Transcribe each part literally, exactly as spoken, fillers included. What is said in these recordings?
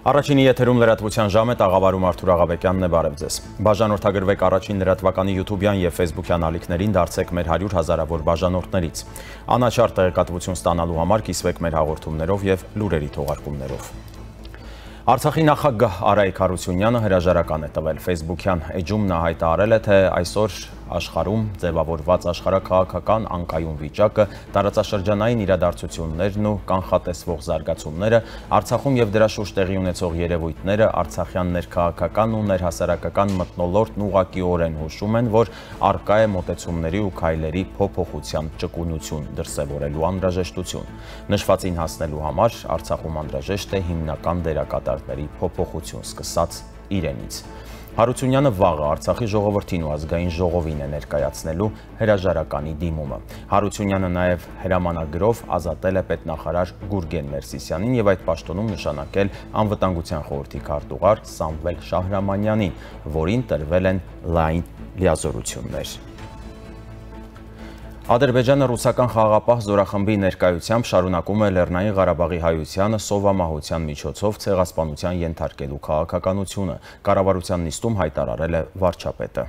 Առաջինի եթերում լրատվության ժամ է, տաղավարում Արթուր Աղաբեկյանն է, բարև ձեզ։ Բաժանորդագրվեք առաջին լրատվականի յութուբյան եւ ֆեյսբուքյան ալիքներին, դարձեք մեր հարյուր հազարավոր բաժանորդներից։ Անաչառ տեղեկատվություն ստանալու համար կիսվեք մեր հաղորդումներով եւ լուրերի թողարկումներով։ Արցախի նախագահ Արայիկ Հարությունյանը հրաժարական է տվել ֆեյսբուքյան էջում նա հայտարարել է, թե այսօր աշխարհում ձևավորված աշխարհաքաղաքական անկայուն վիճակը, տարածաշրջանային իրադարձություններն ու կանխատեսվող զարգացումները, Արցախում եւ դրա շուրջ տեղի ունեցող երևույթները արցախյան ներքաղաքական ու ներհասարակական մթնոլորտն ուղղակիորեն հուշում են, որ առկա է մոտեցումների ու քայլերի փոփոխության ճկունություն դրսևորելու անհրաժեշտություն։ Նշվածին հասնելու համար Արցախում անհրաժեշտ է հիմնական դերակատարների փոփոխություն սկսած իրենից։ Հարությունյանը վաղը Արցախի ժողովրդին ու ազգային ժողովին է ներկայացնելու հրաժարականի դիմումը։ Հարությունյանը նաև հրամանագրով ազատել է պետնախարար Գուրգեն Մերսիսյանին եւ այդ պաշտոնում նշանակել անվտանգության խորհրդի քարտուղար Սամվել Շահրամանյանին, որին տրվել են լայն լիազորություններ։ Ադրբեջանը ռուսական խաղաղապահ զորախմբի ներկայությամբ շարունակում է Լեռնային Ղարաբաղի հայությանը սովամահության միջոցով ցեղասպանության ենթարկելու քաղաքականությունը, կառավարության նիստում հայտարարել է վարչապետը։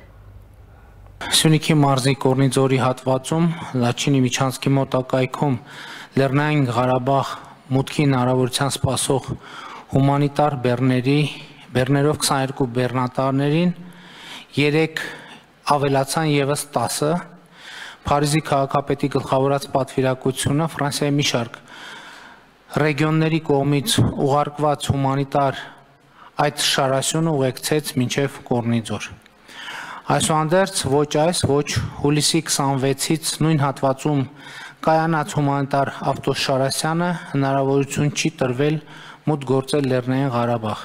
Սյունիքի մարզի Կորնիձորի հատվածում Լաչինի միջանցքի մոտակայքում Լեռնային Ղարաբաղ մուտքի հնարավորության սպասող հումանիտար բեռների բեռներով քսաներկու բեռնատարներին երեք ավելացան եւս տասը Փարիզի քաղաքապետի գլխավորած պատվիրակությունը Ֆրանսիայի մի շարք ռեգիոնների կողմից ուղարկված հումանիտար այդ շարասյունը ուղեկցեց մինչև Կորնիձոր։ Այսուհանդերձ ոչ այս, ոչ հուլիսի քսանվեցից նույն հատվածում կայանած հումանիտար ավտոշարասյանը հնարավորություն չի տրվել մուտք գործել Լեռնային Ղարաբաղ։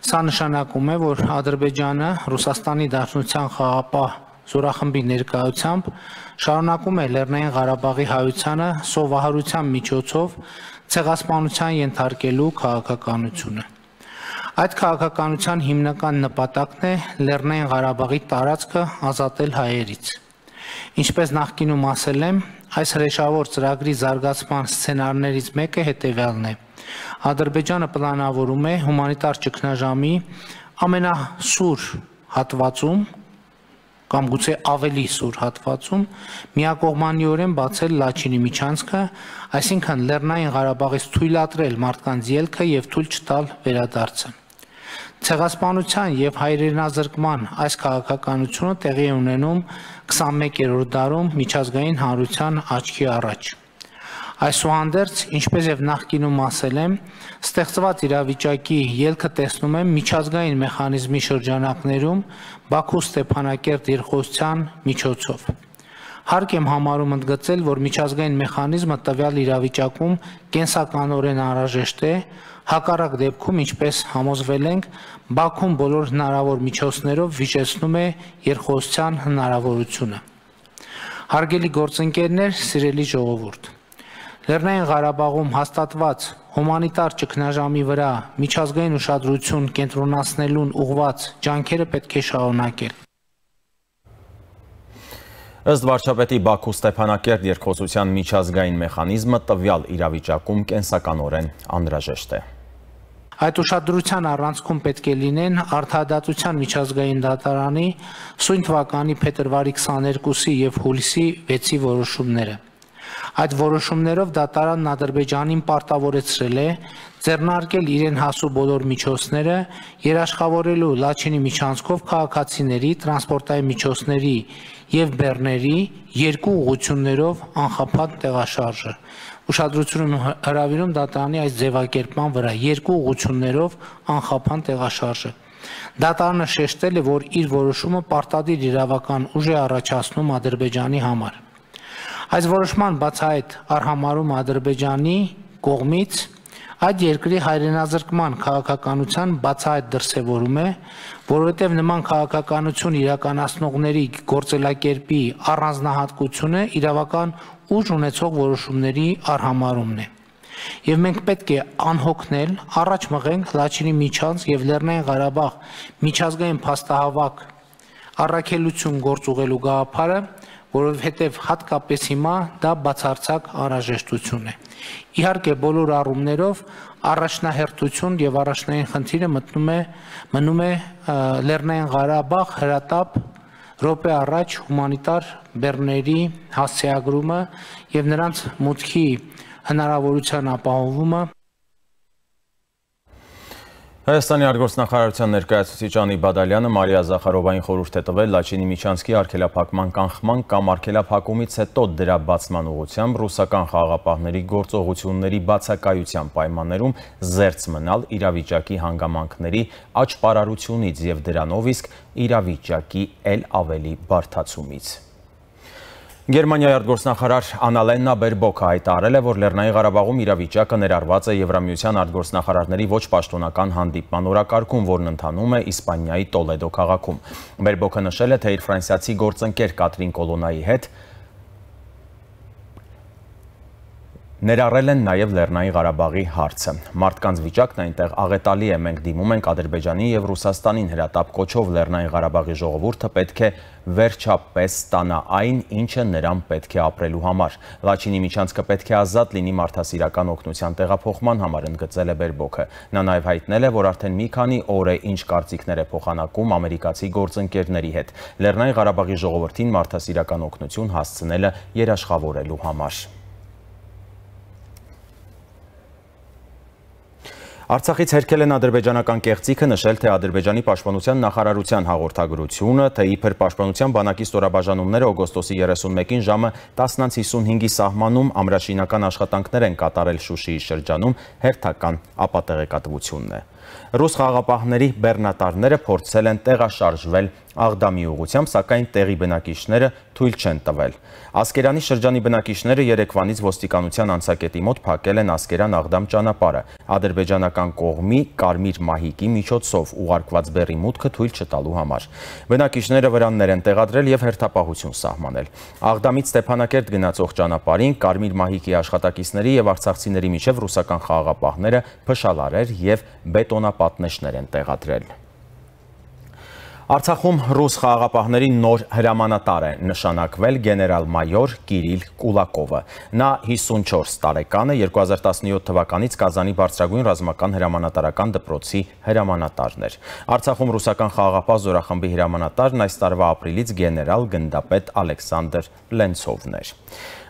Սա նշանակում է, որ Ադրբեջանը Ռուսաստանի Դաշնության խաղաղապահ զորախմբի ներկայությամբ շարունակում է Լեռնային Ղարաբաղի հայությանը սովահարության միջոցով ցեղասպանության ենթարկելու քաղաքականությունը։ Այդ քաղաքականության հիմնական նպատակն է Լեռնային Ղարաբաղի տարածքը ազատել հայերից։ Ինչպես նախկինում ասել եմ, այս հրեշավոր ծրագրի զարգացման սցենարներից մեկը հետևյալն է։ Ադրբեջանը պլանավորում է հումանիտար ճգնաժամի ամենասուր հատվածում կամ գուցե ավելի սուր հատվածում միակողմանիորեն բացել Լաչինի միջանցքը, այսինքն Լեռնային Ղարաբաղից թույլատրել մարդկանց ելքը եւ թույլ չտալ վերադարձը։ Ցեղասպանության եւ հայրենազրկման այս քաղաքականությունը տեղի է ունենում քսանմեկերորդ դարում միջազգային հանրության աչքի առաջ։ Այսուհանդերձ, ինչպես եւ նախկինում ասել եմ, ստեղծված իրավիճակի ելքը տեսնում եմ միջազգային մեխանիզմի շրջանակներում Բաքու Ստեփանակերտ երկխոսության միջոցով։ Հարկ եմ համարում ընդգծել, որ միջազգային մեխանիզմը տվյալ իրավիճակում կենսականորեն անհրաժեշտ է, հակառակ դեպքում, ինչպես համոզվել ենք, Բաքուն բոլոր հնարավոր միջոցներով վիճեցնում է երկխոսության հնարավորությունը։ Հարգելի գործընկերներ, սիրելի ժողովուրդ, Լեռնային Ղարաբաղում հաստատված հումանիտար ճգնաժամի վրա միջազգային ուշադրություն կենտրոնացնելուն ուղղված ջանքերը պետք է շարունակել։ Ըստ վարչապետի Բաքու Ստեփանակերտ երկխոսության միջազգային մեխանիզմը տվյալ իրավիճակում կենսականորեն անհրաժեշտ է։ Այդ ուշադրության առանցքում պետք է լինեն Արդարադատության միջազգային դատարանի սույն թվականի փետրվարի քսաներկուսի եւ հուլիսի վեցի որոշումները։ Այդ որոշումներով դատարանն Ադրբեջանին պարտավորեցրել է ձեռնարկել իրեն հասու բոլոր միջոցները երաշխավորելու Լաչինի միջանցքով քաղաքացիների, տրանսպորտային միջոցների եւ բեռների երկու ուղղություններով անխափան տեղաշարժը։ Ուշադրություն հրավիրում դատարանի այս ձևակերպման վրա երկու ուղղություններով անխափան տեղաշարժը։ Դատարանը շեշտել է, որ իր որոշումը պարտադիր իրավական ուժ է առաջացնում Ադրբեջանի համար։ Այս որոշման բացահայտ արհամարում Ադրբեջանի կողմից այդ երկրի հայրենազրկման քաղաքականության բացահայտ դրսևորում է, որովհետև նման քաղաքականություն իրականացնողների գործելակերպի առանձնահատկությունը իրավական ուժ ունեցող որոշումների արհամարումն է։ Եվ մենք պետք է անհոգնել, առաջ մղենք Լաչինի միջանց եւ Լեռնային Ղարաբաղ միջազգային փաստահավաք առաքելություն գործ ուղղելու գաղափարը, որովհետև հատկապես հիմա դա բացարձակ անհրաժեշտություն է։ Իհարկե բոլոր առումներով առաջնահերթություն եւ առաջնային խնդիրը մտնում է մնում է Լեռնային Ղարաբաղ հրատապ րոպե առաջ հումանիտար բեռների հասցեագրումը եւ նրանց մուտքի հնարավորության ապահովումը։ Հայաստանի արտգործնախարարության ներկայացուցիչ Անի Բադալյանը Մարիա Զախարովային խորհուրդ է տվել Լաչինի Միչանսկի արգելափակման կանխման կամ արգելափակումից հետո դրա բացման ուղղությամբ ռուսական խաղաղապահների գործողությունների բացակայության պայմաններում զերծ մնալ իրավիճակի հանգամանքների աճպարարությունից եւ դրանով իսկ իրավիճակի ել ավելի բարդացումից։ Գերմանիայի արտգործնախարար Անալենա Բերբոքը հայտարարել է, որ Լեռնային Ղարաբաղում իրավիճակը ներառված է Եվրամիության արտգործնախարարների ոչ պաշտոնական հանդիպման օրակարգում, որն ընթանում է Իսպանիայի Տոլեդո քաղաքում։ Բերբոքը նշել է, թե իր ֆրանսիացի գործընկեր Կատրին Կոլոնայի հետ ներառել են նաև Լեռնային Ղարաբաղի հարցը։ Մարդկանց վիճակն այնտեղ աղետալի է, մենք դիմում ենք Ադրբեջանին եւ Ռուսաստանին հրատապ կոչով Լեռնային Ղարաբաղի ժողովուրդը պետք է վերջապես ստանա այն, ինչը նրան պետք է ապրելու համար։ Լաչինի Միչանսկը պետք է ազատ լինի մարդասիրական օգնության տեղափոխման համար, ընդգծել է Բերբոքը։ Նա նաև հայտնել է, որ արդեն մի քանի օր է ինչ կարծիքներ է փոխանակում ամերիկացի գործընկերների հետ Լեռնային Ղարաբաղի ժողովրդին մարդասիրական օգնություն հասցնելը երաշխավորելու համար։ Արցախից հերքել են ադրբեջանական կեղծիքը, նշել, թե Ադրբեջանի պաշտպանության նախարարության հաղորդագրությունը, թե իբր պաշտպանության բանակի ստորաբաժանումները օգոստոսի երեսունմեկին ժամը տասն հիսունհինգի սահմանում ամրաշինական աշխատանքներ են կատարել Շուշիի շրջանում, հերթական ապատեղեկատվությունն է։ Ռուս խաղաղապահների բեռնատարները փորձել են տեղաշարժվել Աղդամի ուղղությամբ, սակայն տեղի բնակիչները թույլ չեն տվել։ Ասկերանի շրջանի բնակիչները երեկվանից ոստիկանության անցակետի մոտ փակել են Ասկերան-Աղդամ ճանապարհը, ադրբեջանական կողմի կարմիր մահիկի միջոցով ուղարկված բեռի մուտքը թույլ չտալու համար։ Բնակիչները վրաններ են տեղադրել եւ հերթապահություն սահմանել։ Աղդամից Ստեփանակերտ գնացող ճանապարհին կարմիր մահիկի աշխատակիցների եւ արցախցիների միջև ռուսական խաղաղապահները փշալարեր եւ բետոնապատնեշներ են տեղադրել։ Արցախում ռուս խաղաղապահների նոր հրամանատար է նշանակվել գեներալ-մայոր Կիրիլ Կուլակովը։ Նա հիսունչորս տարեկան է, երկու հազար տասնյոթ թվականից Կազանի բարձրագույն ռազմական հրամանատարական դպրոցի հրամանատարն էր։ Արցախում ռուսական խաղաղապահ զորախմբի հրամանատարն այս տարվա ապրիլից գեներալ գնդապետ Ալեքսանդր Լենցովն էր։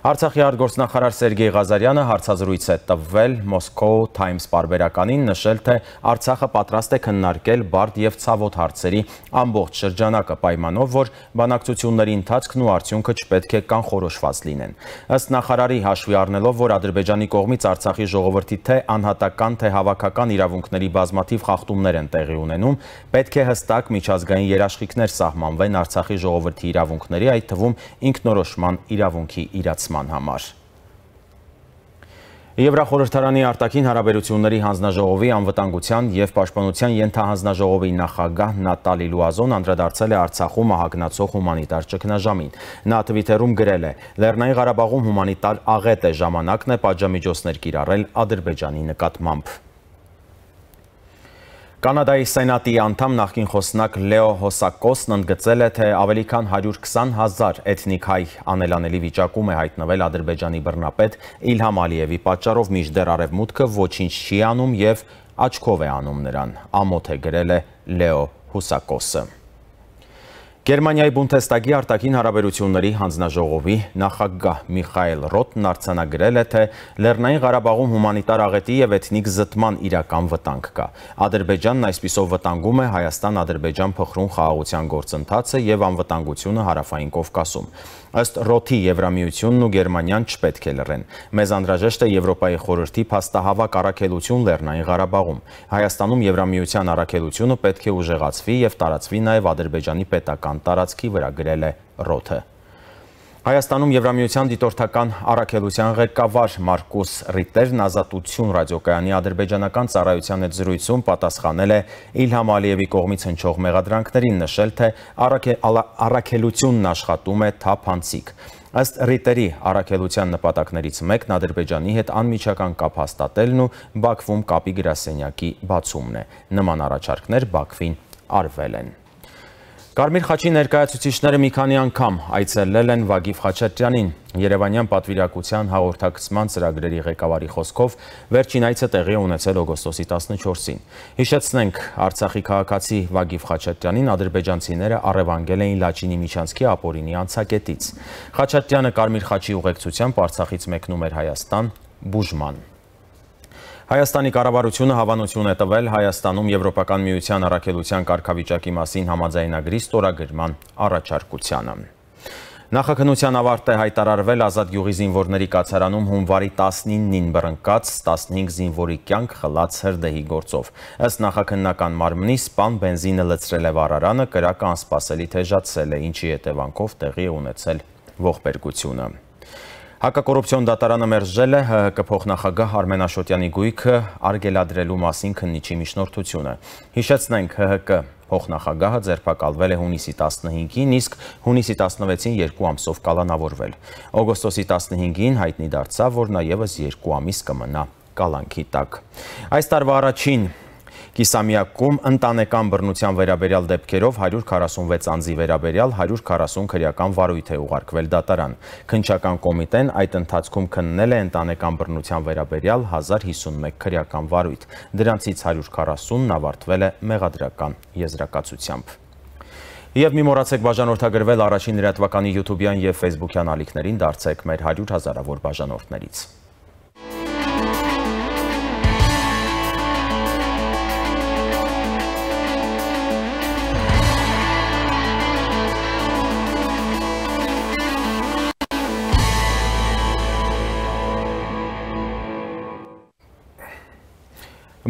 Արցախի արտգործնախարար Սերգեյ Ղազարյանը հարցազրույց է տվել Moscow Times պարբերականին, նշել, թե Արցախը պատրաստ է քննարկել բարդ եւ ցավոտ հարցերի ամբողջ շրջանակը պայմանով, որ բանակցությունների ընթացքն ու արդյունքը չպետք է կանխորոշված լինեն։ Ըստ նախարարի, հաշվի առնելով, որ Ադրբեջանի կողմից Արցախի ժողովրդի թե անհատական, թե հավաքական իրավունքների բազմաթիվ խախտումներ են տեղի ունենում, պետք է հստակ միջազգային երաշխիքներ սահմանվեն Արցախի ժողովրդի իրավունքների, այդ թվում ինքնորոշման իրավունքի իրացման համար։ Եվրախորհրդարանի արտաքին հարաբերությունների հանձնաժողովի անվտանգության եւ պաշտպանության ենթահանձնաժողովի նախագահ Նատալի Լուազոն անդրադարձել է Արցախում ահագնացող հումանիտար ճգնաժամին։ Նա Twitter-ում գրել է. «Լեռնային Ղարաբաղում հումանիտար աղետ է, ժամանակն է պատժամիջոցներ կիրառել Ադրբեջանի նկատմամբ»։ Կանադայի Սենատի անդամ նախկին խոսնակ Լեո Հոսակոսն ընդգծել է, թե ավելի քան հարյուր քսան հազար էթնիկ հայ անելանելի վիճակում է հայտնվել Ադրբեջանի բռնապետ Իլհամ Ալիևի պատճառով, մինչդեռ Արևմուտքը ոչինչ չի անում եւ աչքով է անում նրան, ամոթ է գրել է Լեո Հոսակոսը։ Գերմանիայի Բունդեստագի արտաքին հարաբերությունների հանձնաժողովի նախագահ Միխայել Ռոթն արձանագրել է, թե Լեռնային Ղարաբաղում հումանիտար աղետի եւ էթնիկ զտման իրական վտանգ կա։ Ադրբեջանն այսպիսով վտանգում է Հայաստան-Ադրբեջան փխրուն խաղաղության գործընթացը եւ անվտանգությունը Հարավային Կովկասում։ Ըստ Ռոթի Եվրամիությունն ու Գերմանիան չպետք է լռեն։ Մեզ անհրաժեշտ է Եվրոպայի խորհրդի փաստահավաք առաքելություն Լեռնային Ղարաբաղում։ Հայաստանում Եվրամիության առաքելությունը պետք է ուժեղացվի եւ տարածվի նաեւ Ադրբեջանի պետական տարածքի վրա, գրել է Ռոթը։ Հայաստանում Եվրամիության դիտորդական առաքելության ղեկավար Մարկուս Ռիտերն Ազատություն ռադիոկայանի ադրբեջանական ծառայության հետ զրույցում պատասխանել է Իլհամ Ալիևի կողմից հնչող մեղադրանքներին, նշել, թե առաքելությունն աշխատում է թափանցիկ։ Ըստ Ռիտերի, առաքելության նպատակներից մեկն Ադրբեջանի հետ անմիջական կապ հաստատելն ու Բաքվում կապի գրասենյակի բացումն է։ Նման առաջարկներ Բաքվին արվել են։ Կարմիր խաչի ներկայացուցիչները մի քանի անգամ այցելել են Վագիվ Խաչատրյանին։ Երևանյան պատվիրակության հաղորդակցման ծրագրերի ղեկավարի խոսքով վերջին այցը տեղի ունեցել օգոստոսի տասնչորսին։ Հիշեցնենք, Արցախի քաղաքացի Վագիվ Խաչատրյանին ադրբեջանցիները առևանգել էին Լաչինի Միջանցքի ապօրինի անցակետից։ Խաչատրյանը Կարմիր խաչի ուղեկցությամբ Արցախից մեկնում էր Հայաստան բուժման։ Հայաստանի կառավարությունը հավանություն է տվել Հայաստանում Եվրոպական միության առաքելության կարգավիճակի մասին համաձայնագրի ստորագրման առաջարկությանը։ Նախաքննության ավարտ է հայտարարվել Ազատ գյուղի զինվորների կացարանում հունվարի տասնինին բռնկած տասնհինգ զինվորի կյանք խլած հրդեհի գործով։ Ըստ նախաքննական մարմնի սպան բենզինը լցրել է վառարանը, կրակը անսպասելի թեժացել է, ինչի հետևանքով տեղի է ունեցել ողբերգությունը։ Հակակոռուպցիոն դատարանը մերժել է ՀՀԿ փոխնախագահ Արմեն Աշոտյանի գույքը արգելադրելու մասին քննիչի միջնորդությունը։ Հիշեցնենք, ՀՀԿ փոխնախագահը ձերբակալվել է հունիսի տասնհինգին, իսկ հունիսի տասնվեցին երկու ամսով կալանավորվել։ Օգոստոսի տասնհինգին հայտնի դարձավ, որ նա ևս երկու ամիս կմնա կալանքի տակ։ Այս տարվա առաջին կիսամյակում ընտանեկան բռնության վերաբերյալ դեպքերով հարյուր քառասունվեց անձի վերաբերյալ հարյուր քառասուն քրեական վարույթ է ուղարկվել դատարան։ Քննչական կոմիտեն այդ ընթացքում քննել է ընտանեկան բռնության վերաբերյալ հազար հիսունմեկ քրեական վարույթ։ Դրանցից հարյուր քառասունն ավարտվել է մեղադրական եզրակացությամբ։ Եվ մի մոռացեք բաժանորդագրվել առաջին լրատվականի յութուբյան և ֆեյսբուքյան ալիքներին, դարձեք մեր հարյուր հազարավոր բաժանորդներից։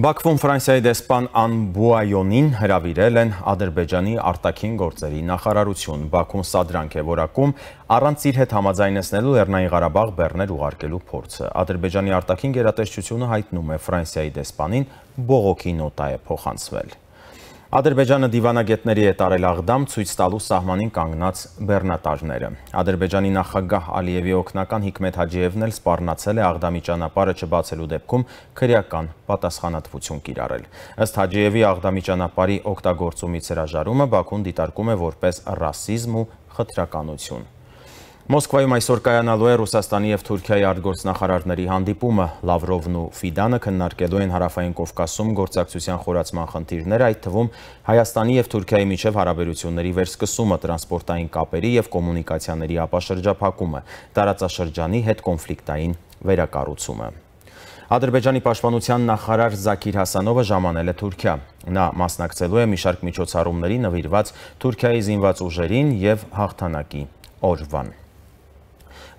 Բաքվում Ֆրանսիայի դեսպան Ան Բուայոնին հրավիրել են Ադրբեջանի արտաքին գործերի նախարարություն։ Բաքուն սադրանք է որակում առանց իր հետ համաձայնեցնելու Լեռնային Ղարաբաղ բեռներ ուղարկելու փորձը։ Ադրբեջանի արտաքին գերատեսչությունը հայտնում է Ֆրանսիայի դեսպանին բողոքի նոտա է փոխանցվել։ Ադրբեջանը դիվանագետների է տարել աղդամ ցույց տալու սահմանին կանգնած բեռնատարները։ Ադրբեջանի նախագահ Ալիևի օգնական Հիկմետ Հաջիևն էլ սպառնացել է աղդամի ճանապարհը չբացելու դեպքում քրեական պատասխանատվություն կիրառել։ Ըստ Հաջիևի աղդամի ճանապարհի օգտագործումից հրաժարումը Բաքուն դիտարկում է որպես ռասիզմ ու խտրականություն։ Մոսկվայում այսօր կայանալու է Ռուսաստանի և Թուրքիայի արտգործնախարարների հանդիպումը։ Լավրովն ու Ֆիդանը քննարկելու են Հարավային Կովկասում գործակցության խորացման խնդիրները, այդ թվում Հայաստանի և Թուրքիայի միջև հարաբերությունների վերսկսումը, տրանսպորտային կապերի և կոմունիկացիաների ապաշրջափակումը, տարածաշրջանի հետ կոնֆլիկտային վերակառուցումը։ Ադրբեջանի պաշտպանության նախարար Զաքիր Հասանովը ժամանել է Թուրքիա։ Նա մասնակցելու է մի շարք միջոցառումների նվիրված Թուրքիայի զինված ուժերին և հաղթանակի օրվան։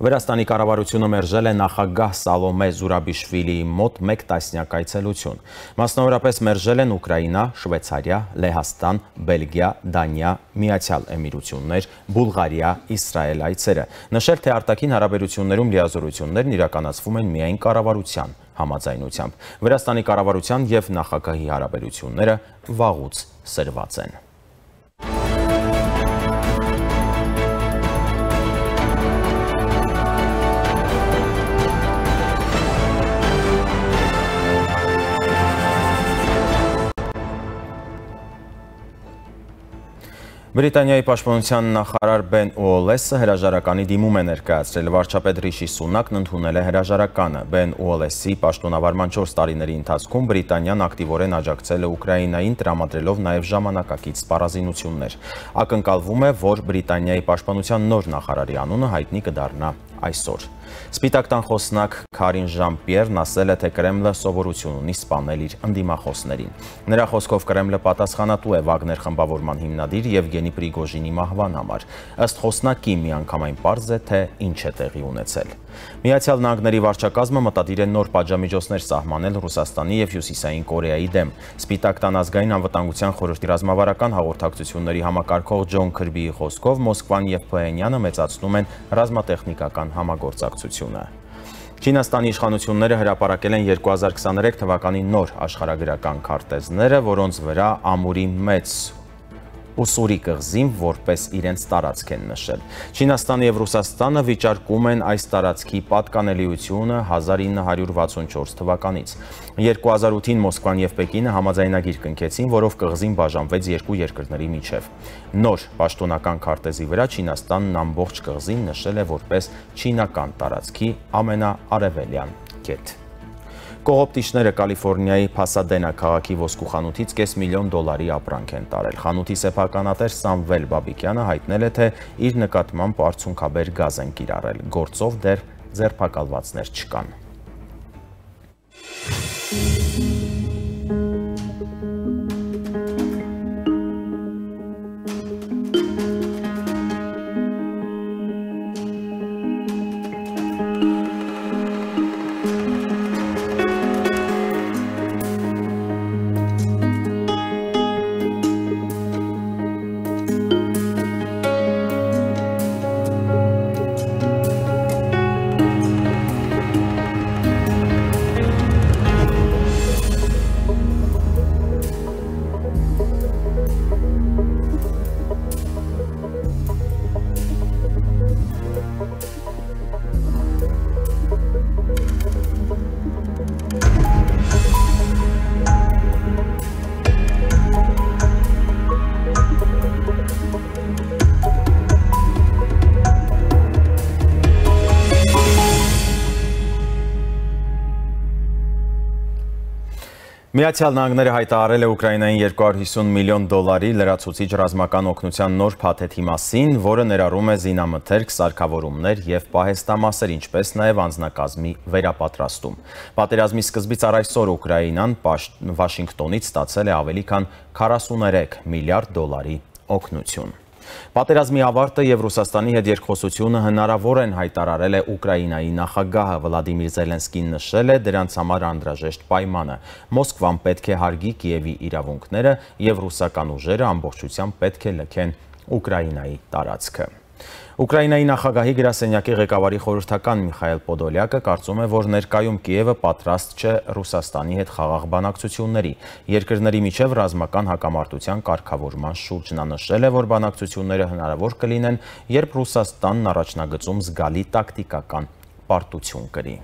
Վրաստանի կառավարությունը մերժել է նախագահ Սալոմե Զուրաբիշվիլիի մոտ մեկ տասնյակ այցելություն։ Մասնավորապես մերժել են Ուկրաինա, Շվեյցարիա, Լեհաստան, Բելգիա, Դանիա, Միացյալ Էմիրություններ, Բուլղարիա, Իսրայել այցերը։ Նշել, թե արտաքին հարաբերություններում լիազորություններն իրականացվում են միայն կառավարության համաձայնությամբ։ Վրաստանի կառավարության և նախագահի հարաբերությունները վաղուց սրված են։ Բրիտանիայի պաշտպանության նախարար Բեն Ուոլեսը հրաժարականի դիմում է ներկայացրել։ Վարչապետ Ռիշի Սունակն ընդունել է հրաժարականը։ Բեն Ուոլեսի պաշտոնավարման չորս տարիների ընթացքում Բրիտանիան ակտիվորեն աջակցել է Ուկրաինային, տրամադրելով նաև ժամանակակից սպառազինություններ։ Ակնկալվում է, որ Բրիտանիայի պաշտպանության նոր նախարարի անունը հայտնի կդառնա այսօր։ Սպիտակ տան խոսնակ Քարին Ժան-Պիերն ասել է, թե Կրեմլը սովորություն ունի սպանել իր ընդդիմախոսներին։ Նրա խոսքով Կրեմլը պատասխանատու է Վագներ խմբավորման հիմնադիր Եվգենի Պրիգոժինի մահվան համար։ Ըստ խոսնակի միանգամայն պարզ է, թե ինչ է տեղի ունեցել։ Միացյալ Նահանգների վարչակազմը մտադիր է նոր պատժամիջոցներ սահմանել Ռուսաստանի և Հյուսիսային Կորեայի դեմ։ Սպիտակ տան ազգային անվտանգության խորհրդի ռազմավարական հաղորդակցությունների համակարգող Ջոն Քրբիի խոսքով Մոսկվան և Փհենյանը մեծացնում են ռազմատեխնիկական համագործակցությունը։ Չինաստանի իշխանությունները հրապարակել են երկու հազար քսաներեք թվականի նոր աշխարհագրական քարտեզները, որոնց վրա ամուրի մեծ Ուսուրի կղզին որպես իրենց տարածք են նշել։ Չինաստանը եւ Ռուսաստանը վիճարկում են այս տարածքի պատկանելիությունը հազար ինը հարյուր վաթսունչորս թվականից։ երկու հազար ութին Մոսկվան եւ Պեկինը համաձայնագիր կնքեցին, որով կղզին բաժանվեց երկու երկրների միջև։ Նոր պաշտոնական քարտեզի վրա Չինաստանն ամբողջ կղզին նշել է որպես չինական տարածքի ամենաարևելյան կետ։ Կողոպտիչները Կալիֆոռնիայի Փասադենա քաղաքի ոսկու խանութից կես միլիոն դոլարի ապրանք են տարել։ Խանութի սեփականատեր Սամվել Բաբիկյանը հայտնել է, թե իր նկատմամբ արցունքաբեր գազ են կիրառել։ Գործով դեռ ձերբակալվածներ չկան։ Միացյալ Նահանգները հայտարարել է Ուկրաինային երկու հարյուր հիսուն միլիոն դոլարի լրացուցիչ ռազմական օգնության նոր փաթեթի մասին, որը ներառում է զինամթերք, սարքավորումներ եւ պահեստամասեր, ինչպես նաեւ անձնակազմի վերապատրաստում։ Պատերազմի սկզբից առ այսօր Ուկրաինան Վաշինգտոնից ստացել է ավելի քան քառասուներեք միլիարդ դոլարի օգնություն։ Պատերազմի ավարտը եւ Ռուսաստանի հետ երկխոսությունը հնարավոր են հայտարարել է Ուկրաինայի նախագահը Վլադիմիր Զելենսկին նշել է դրանց համար անհրաժեշտ պայմանը։ Մոսկվան պետք է հարգի Կիևի իրավունքները եւ ռուսական ուժերը ամբողջությամբ պետք է լքեն Ուկրաինայի տարածքը։ Ուկրաինայի նախագահի գրասենյակի ղեկավարի խորհրդական Միխայել Պոդոլյակը կարծում է, որ ներկայում Կիևը պատրաստ չէ Ռուսաստանի հետ խաղաղ բանակցությունների։ Երկրների միջև ռազմական հակամարտության կարգավորման շուրջ նա նշել է, որ բանակցությունները հնարավոր կլինեն, երբ Ռուսաստանն առաջնագծում զգալի տակտիկական պարտություն կրի։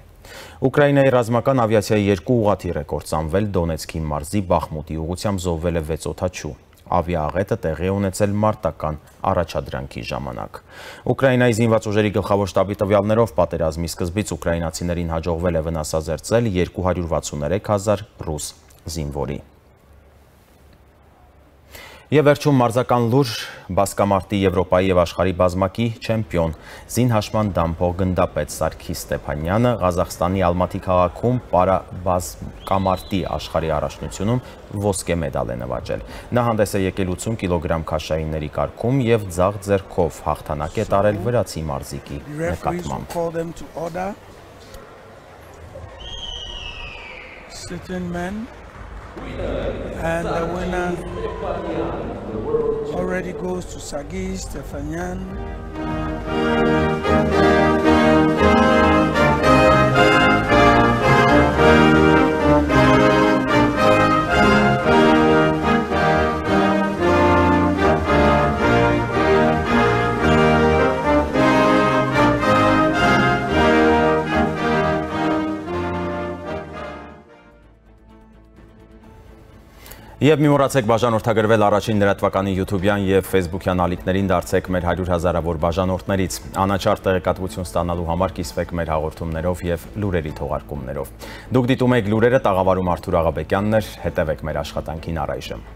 Ուկրաինայի ռազմական ավիացիայի երկու ուղղաթիռ է կործանվել Դոնեցկի մարզի Բախմուտի ուղղությամբ զոհվել է վեց օդաչու։ Ավիաաղետը տեղի է ունեցել մարտական առաջադրանքի ժամանակ։ Ուկրաինայի զինված ուժերի գլխավոր շտաբի տվյալներով պատերազմի սկզբից ուկրաինացիներին հաջողվել է վնասազերծել երկու հարյուր վաթսուներեք հազար ռուս զինվորի։ Եվ վերջում մարզական լուր բասկամարտի Եվրոպայի եւ աշխարհի բազմակի չեմպիոն զինհաշման դամփող գնդապետ Սարգիս Ստեփանյանը Ղազախստանի Ալմատի քաղաքում պարաբասկամարտի աշխարհի առաջնությունում ոսկե մեդալ է նվաճել։ Նա հանդես է եկել ութսուն կիլոգրամ քաշայինների կարգում եւ ձախ ձեռքով հաղթանակ է տարել վրացի մարզիկի նկատմամբ։ And the winner already goes to Sargis Stefanyan. Եվ մի մոռացեք բաժանորդագրվել առաջին լրատվականի յութուբյան եւ ֆեյսբուքյան ալիքներին, դարձեք մեր հարյուր հազարավոր բաժանորդներից։ Անաչառ տեղեկատվություն ստանալու համար կիսվեք մեր հաղորդումներով եւ լուրերի թողարկումներով։ Դուք դիտում եք լուրերը, տաղավարում Արթուր Աղաբեկյանն էր, հետևեք մեր աշխատանքին առայժմ։